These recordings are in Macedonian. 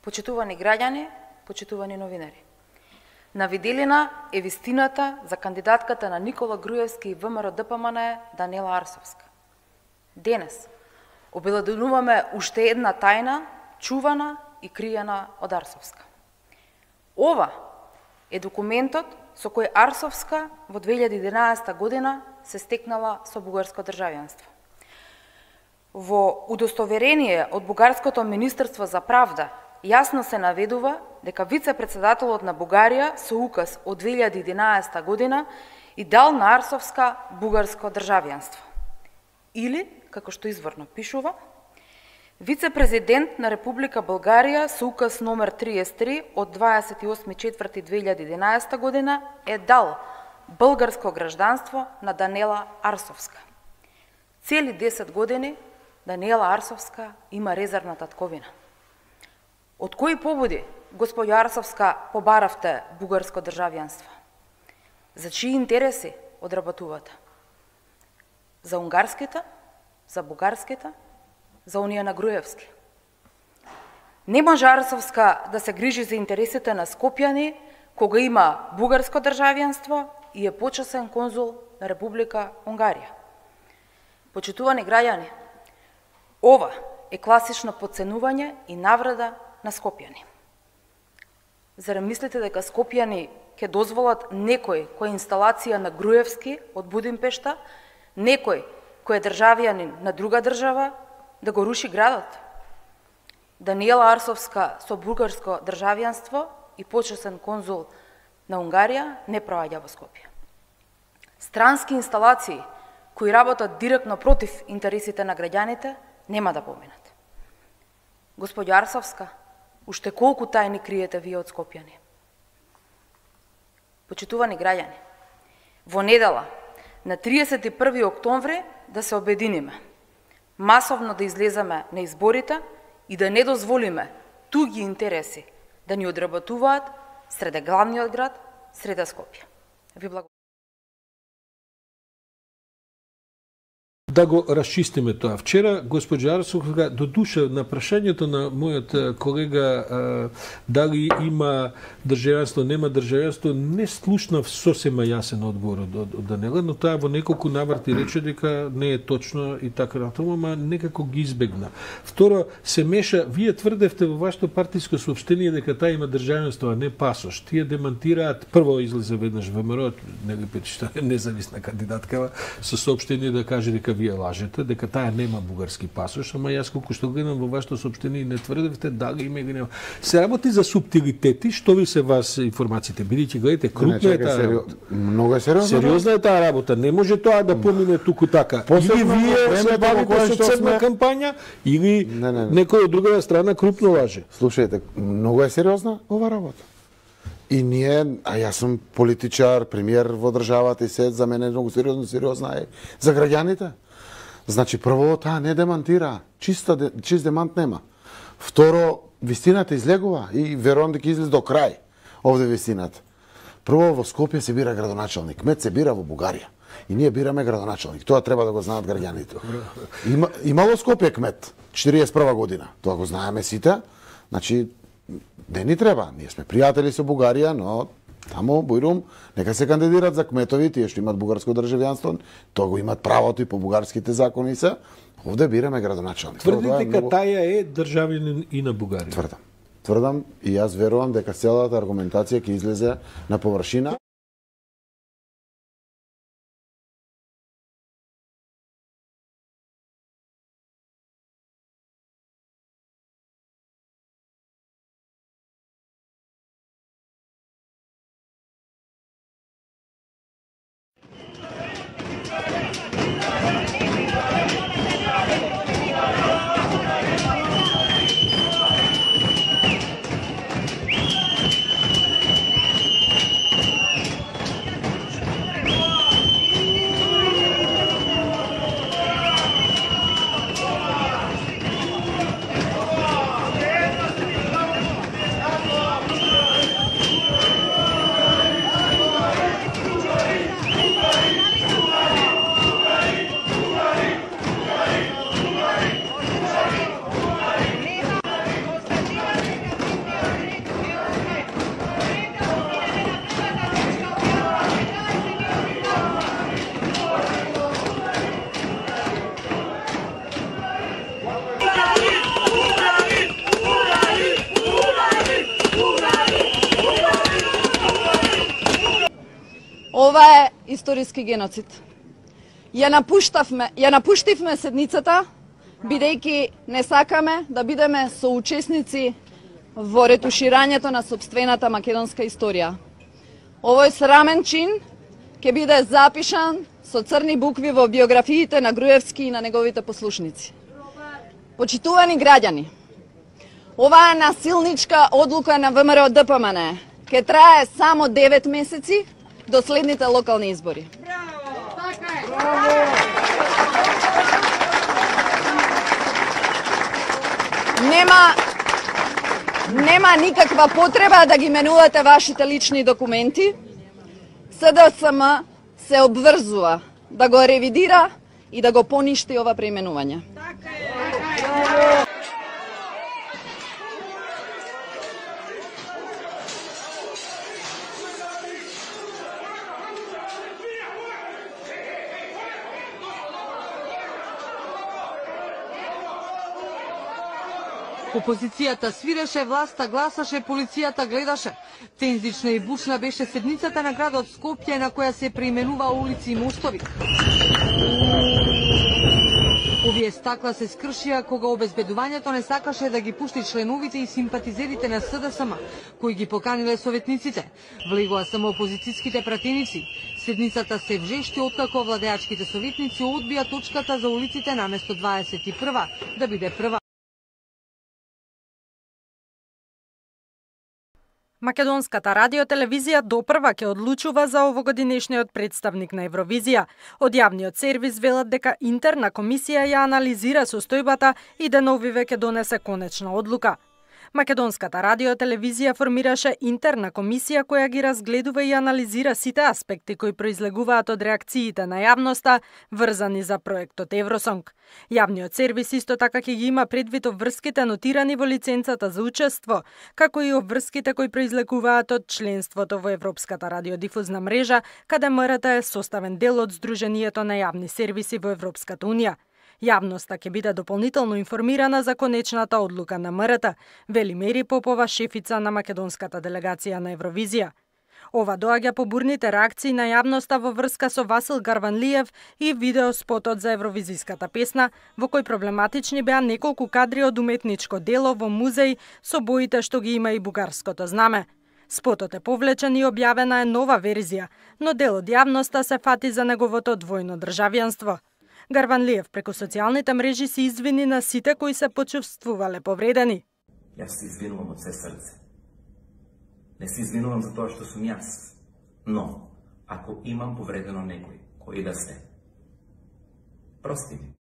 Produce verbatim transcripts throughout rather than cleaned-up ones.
Почитувани граѓани, почитувани новинари. На виделина е вистината за кандидатката на Никола Груевски и ВМРО-ДПМН Даниела Арсовска. Денес обелоденуваме уште една тајна, чувана и криена од Арсовска. Ова е документот со кој Арсовска во две илјади и единаесета година се стекнала со бугарско државјанство. Во удостоверение од Бугарското Министерство за правда јасно се наведува дека вице-председателот на Бугарија со указ од две илјади и единаесета година и дал на Арсовска бугарско државјанство. Или, како што изворно пишува, вице-президент на Република Българија со указ номер триесет и три од дваесет и осми четврти две илјади и единаесета година е дал българско гражданство на Даниела Арсовска. Цели десет години Даниела Арсовска има резервна татковина. Од кои поводи, господја Арсовска, побаравте бугарско државјанство? За чии интереси одработувате? За унгарските, за бугарските, за оние на Груевски? Не може Арсовска да се грижи за интересите на скопјани кога има бугарско државјанство и е почесен конзул на Република Унгарија. Почитувани граѓани, ова е класично подценување и навреда на скопјани. Зарем мислите дека скопјани ќе дозволат некој кој е инсталација на Груевски од Будимпешта, некој кој е државјанин на друга држава, да го руши градот? Даниела Арсовска со бугарско државјанство и почесен конзул на Унгарија не проаѓа во Скопје. Странски инсталации кои работат директно против интересите на граѓаните нема да поминат. Господја Арсовска, уште колку тајни криете вие од скопјани? Почитувани граѓани, во недела, на триесет и први октомври, да се обединиме, масовно да излеземе на изборите и да не дозволиме туги интереси да ни одработуваат среде главниот град, среде Скопје. Ви благодарам. Да го расчистиме тоа. Вчера, госпоѓа Арсовска, до душа на прашањето на мојот колега а, дали има државјанство, нема државјанство, не слушнав сосема јасен одговор од, од, од Даниела, но таа во неколку наврати рече дека не е точно и така натаму, ама некако ги избегна. Второ, се меша, вие тврдевте во вашето партиско соопштение дека таа има државјанство, а не пасош. Тие демантираат, прво излезе веднаш ВМРО, нели петишта независна кандидатка, со соопштение да каже дека вие лажете, дека таа нема бугарски пасош, ама јас колку што гледам во вашето соопштение не тврдевте дали има или нема. Се работи за субтилитети, што ви се вас информациите? Бидејќи гледате, крупна е таа работа. Многу е сериозна. Сериозна е таа работа. Не може тоа да помине туку така. Или вие се бавите со црна кампања, или не, не, не. некој од другата страна крупно лаже. Слушајте, многу е сериозна ова работа. И ние, а јас сум политичар, премиер во државата и се, за мене многу сериозно, сериозна е за граѓаните. Значи, прво, таа не демантира, чиста, чист демант нема. Второ, вистината излегува и верувам дека излез до крај овде вистината. Прво, во Скопје се бира градоначалник, кмет се бира во Бугарија. И ние бираме градоначалник. Тоа треба да го знаат граѓаните. Има, имало Скопје кмет, четириесет и прва година. Тоа го знаеме сите. Значи, не ни треба. Ние сме пријатели со Бугарија, но таму, Бујрум, нека се кандидират за кметови, тие што имат бугарско државјанство, тоа го имат правото и по бугарските закони се. Овде бираме градоначалник. Тврдите дека таја е државјанин и на Бугарија? Тврдам. Тврдам и јас верувам дека целата аргументација ќе излезе на површина. ова е историски геноцид. Ја напуштавме, ја напуштивме седницата, бидејќи не сакаме да бидеме соучесници во ретуширањето на сопствената македонска историја. Овој срамен чин ќе биде запишан со црни букви во биографиите на Груевски и на неговите послушници. Почитувани граѓани, оваа насилничка одлука на ВМРО-ДПМН ќе трае само девет месеци до следните локални избори. Нема нема никаква потреба да ги менувате вашите лични документи. СДСМ се обврзува да го ревидира и да го поништи ова преименување. Опозицијата свиреше, власта гласаше, полицијата гледаше. Тензична и бучна беше седницата на градот Скопје, на која се преименува улици и мостови. Овие стакла се скршија кога обезбедувањето не сакаше да ги пушти членовите и симпатизерите на СДСМ, кои ги поканиле советниците. Влегоа само опозицијските пратеници. Седницата се вжешти откако владеачките советници одбија точката за улиците наместо дваесет и прва да биде прва. Македонската радиотелевизија допрва ќе одлучува за овогодинешниот представник на Евровизија. Од јавниот сервис велат дека интерна комисија ја анализира состојбата и деновиве ќе донесе конечна одлука. Македонската радиотелевизија формираше интерна комисија која ги разгледува и анализира сите аспекти кои произлегуваат од реакциите на јавноста врзани за проектот Евросонг. Јавниот сервис исто така ќе ги има предвид обврските нотирани во лиценцата за учество, како и обврските кои произлегуваат од членството во Европската радиодифузна мрежа, каде МРТ е составен дел од Сдруженијето на јавни сервиси во Европската унија. Јавноста ќе биде дополнително информирана за конечната одлука на МРТ, вели Мери Попова, шефица на македонската делегација на Евровизија. Ова доаѓа по бурните реакции на јавноста во врска со Васил Гарванлиев и видеоспотот за евровизиската песна, во кој проблематични беа неколку кадри од уметничко дело во музеј со боите што ги има и бугарското знаме. Спотот е повлечен и објавена е нова верзија, но дел од јавноста се фати за неговото двојно државјанство. Гарванлиев преку социјалните мрежи се извини на сите кои се почувствувале повредени. Јас се извинувам од се срце. Не се извинувам за тоа што сум јас. Но, ако имам повредено некој, кој да се, прости ми.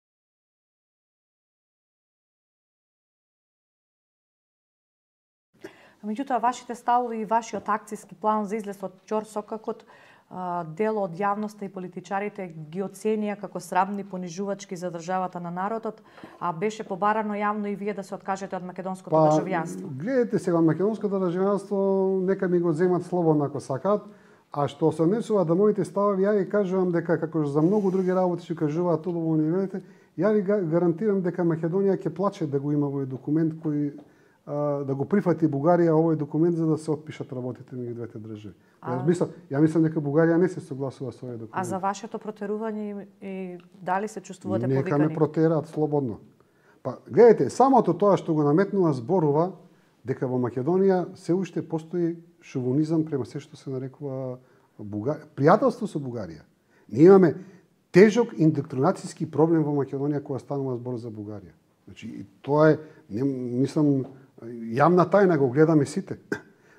Меѓутоа, вашите ставови и вашиот акцијски план за излез од ќорсокакот дел од јавноста и политичарите ги оценија како срамни, понижувачки за државата на народот, а беше побарано јавно и вие да се откажете од македонското па, државјанство. Гледате сега, македонското државјанство нека ми го земат слободно ако сакаат, а што се однесува до моите ставови, ја ви кажувам дека како за многу други работи што кажуваат тоа во универзитет, ја ви гарантирам дека Македонија ќе плаче да го има овој документ кој да го прифати Бугарија овој документ за да се отпишат работите меѓу двете држави. А... Јас мислам, ја мислам дека Бугарија не се согласува со овој документ. А за вашето протерување и дали се чувствувате повикани? Нека ме протераат слободно. Па гледате, самото тоа што го наметнува зборува дека во Македонија се уште постои шовинизам према се што се нарекува Бугарија, пријателство со Бугарија. Ние имаме тежок индоктринацијски проблем во Македонија кога станува збор за Бугарија. Значи, тоа е, не, мислам, јавна тајна, го гледаме сите.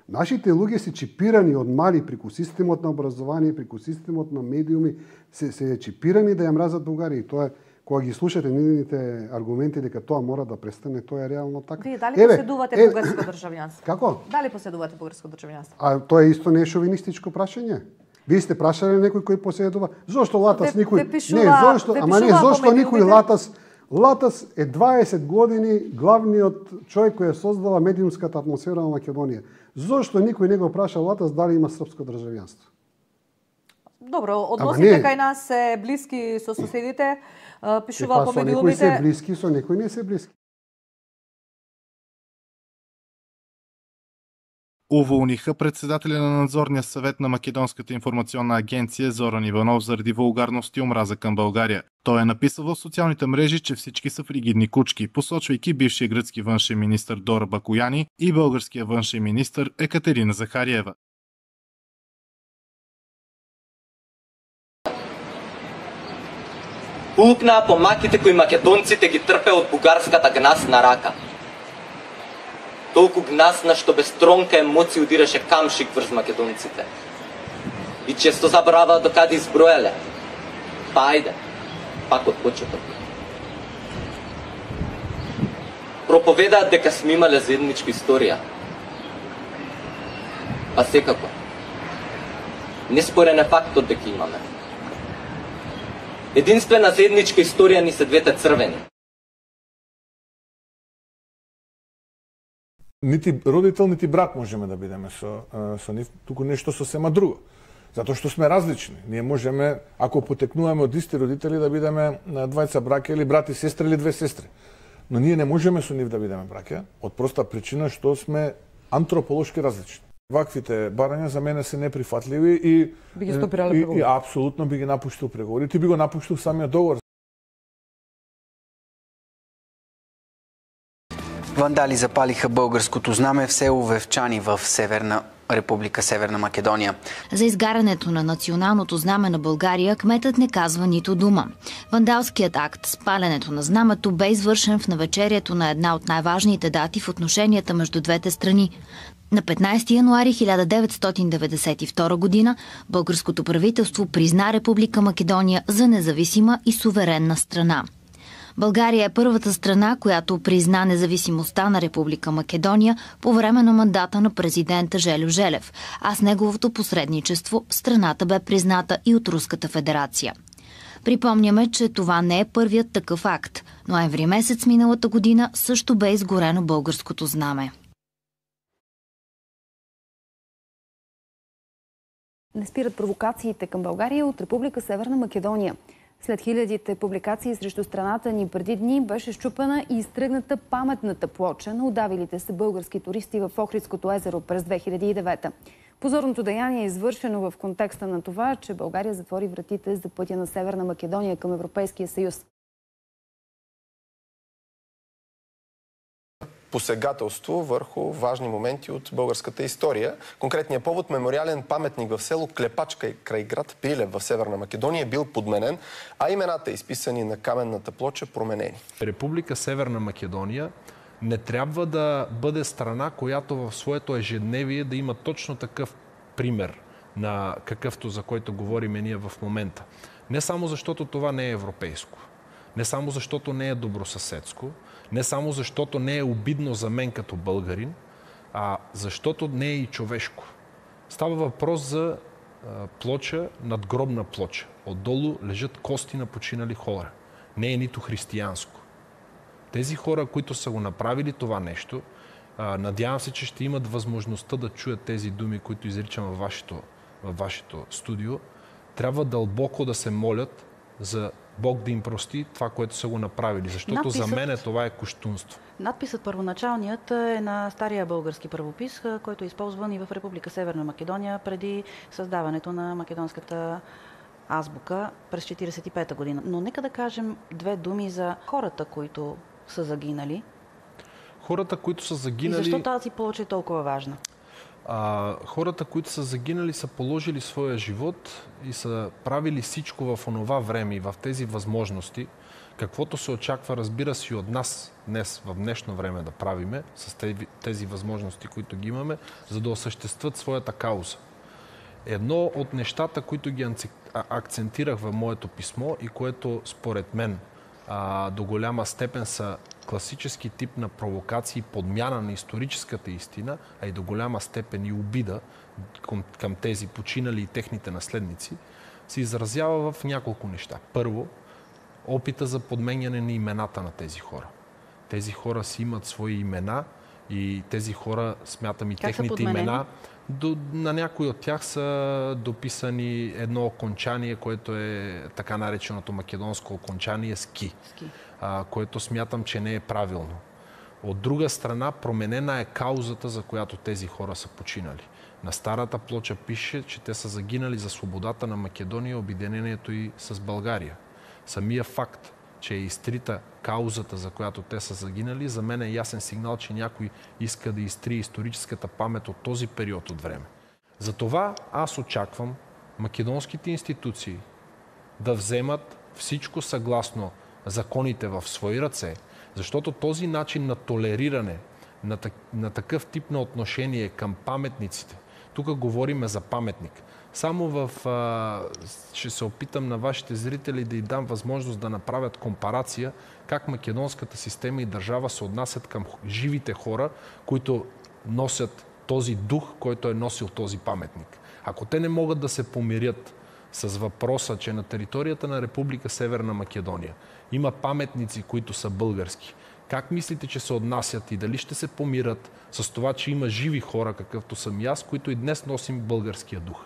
Нашите луѓе се чипирани од мали преку системот на образование, преку системот на медиуми, се, се чипирани да ја мразат Бугарија. И тоа е, кога ги слушате нивните аргументи дека тоа мора да престане, тоа е реално така. Вие дали еве, поседувате еве, бугарско државјанство? Како? Дали поседувате бугарско државјанство? А тоа е исто не е шовинистичко прашање. Вие сте прашале некој кој поседува? Зошто Латас де, никој? Де пишува, не, зошто, ама не, зошто никој Латас Латас е дваесет години главниот човек кој ја создава медиумската атмосфера во Македонија. Зошто никој не го праша Латас дали има српско државјанство? Добро, односите кај нас се блиски со соседите, пишува по медиумите. Со некој се блиски, со некој не се блиски. Уволниха председателя на надзорния съвет на Македонската информационна агенция Зоран Иванов заради вулгарност и омраза към България. Той е написал в социалните мрежи, че всички са фригидни кучки, посочвайки бившия гръцки външен министър Дора Бакояни и българския външен министър Екатерина Захариева. Пукна по маките кои македонците ги трпе от бугарската гнасна рака. Толку гнасна, што без тронка емоци удираше камшик врз македонците. И често забрава докаде изброеле. Па ајде, пак од почеток. Проповедаат дека сме имале заедничка историја. Па секако. Неспорен е фактот дека имаме. Единствена заедничка историја ни се двете црвени. Нити родител, нити брат можеме да бидеме со, со нив, туку нешто сосема друго. Затоа што сме различни. Ние можеме, ако потекнуваме од исти родители, да бидеме двајца браќа или брат и сестра или две сестри. Но ние не можеме со нив да бидеме браќа, од проста причина што сме антрополошки различни. Ваквите барања за мене се неприфатливи и би ги стопирале преговори. И апсолутно би ги напуштил преговори. Ти би го напуштил самиот договор. Вандали запалиха българското знаме в село Вевчани в Северна Република Северна Македония. За изгарянето на националното знаме на България кметът не казва нито дума. Вандалският акт с паленето на знамето бе извършен в навечерието на една от най-важните дати в отношенията между двете страни. На петнайсети януари хиляда деветстотин деветдесет и втора година българското правителство призна Република Македония за независима и суверенна страна. България е първата страна, която призна независимостта на Република Македония по време на мандата на президента Желю Желев, а с неговото посредничество страната бе призната и от Руската федерация. Припомняме, че това не е първият такъв акт. Ноември месец миналата година също бе изгорено българското знаме. Не спират провокациите към България от Република Северна Македония. След хилядите публикации срещу страната ни преди дни беше счупена и изтръгната паметната плоча на удавилите се български туристи в Охридското езеро през две хиляди и девета. Позорното деяние е извършено в контекста на това, че България затвори вратите за пътя на Северна Македония към Европейския съюз. Посегателство върху важни моменти от българската история. Конкретният повод — мемориален паметник в село Клепачка край град Прилеп в Северна Македония е бил подменен, а имената, изписани на каменната плоча, променени. Република Северна Македония не трябва да бъде страна, която в своето ежедневие да има точно такъв пример на какъвто, за който говорим ние в момента. Не само защото това не е европейско, не само защото не е добросъседско, не само защото не е обидно за мен като българин, а защото не е и човешко. Става въпрос за а, плоча, надгробна плоча. Отдолу лежат кости на починали хора. Не е нито християнско. Тези хора, които са го направили това нещо, а, надявам се, че ще имат възможността да чуят тези думи, които изричам във вашето, във вашето студио. Трябва дълбоко да се молят за Бог да им прости това, което са го направили. Защото Надписът... за мен това е кощунство. Надписът първоначалният е на стария български правопис, който е използван и в Република Северна Македония преди създаването на македонската азбука през четирийсет и пета година. Но нека да кажем две думи за хората, които са загинали. Хората, които са загинали... И защо тази плоча е толкова важна? А, хората, които са загинали, са положили своя живот и са правили всичко в онова време и в тези възможности, каквото се очаква, разбира се, и от нас днес, в днешно време да правиме, с тези, тези възможности, които ги имаме, за да осъществят своята кауза. Едно от нещата, които ги акцентирах в моето писмо и което според мен а, до голяма степен са класически тип на провокации, подмяна на историческата истина, а и до голяма степен и обида към, към тези починали и техните наследници, се изразява в няколко неща. Първо, опита за подменяне на имената на тези хора. Тези хора си имат свои имена и тези хора, смятам и как техните имена, до, на някои от тях са дописани едно окончание, което е така нареченото македонско окончание ски, ски. А, което смятам, че не е правилно. Од друга страна, променена е каузата за којато тези хора са починали. На старата плоча пише, че те са загинали за свободата на Македонија и обединението и с Българија. Самия факт, че е изтрита каузата за която те са загинали, за мен е ясен сигнал, че някой иска да изтрие историческата памет от този период от време. Затова аз очаквам македонските институции да вземат всичко съгласно законите в свои ръце, защото този начин на толериране, на, на такъв тип на отношение към паметниците, тук говориме за паметник. Само в... А, ще се опитам на вашите зрители да й дам възможност да направят компарация как македонската система и държава се отнасят към живите хора, които носят този дух, който е носил този паметник. Ако те не могат да се помирят с въпроса, че на територията на Република Северна Македония има паметници, които са български, как мислите, че се отнасят и дали ще се помират с това, че има живи хора, какъвто съм и аз, които и днес носим българския дух?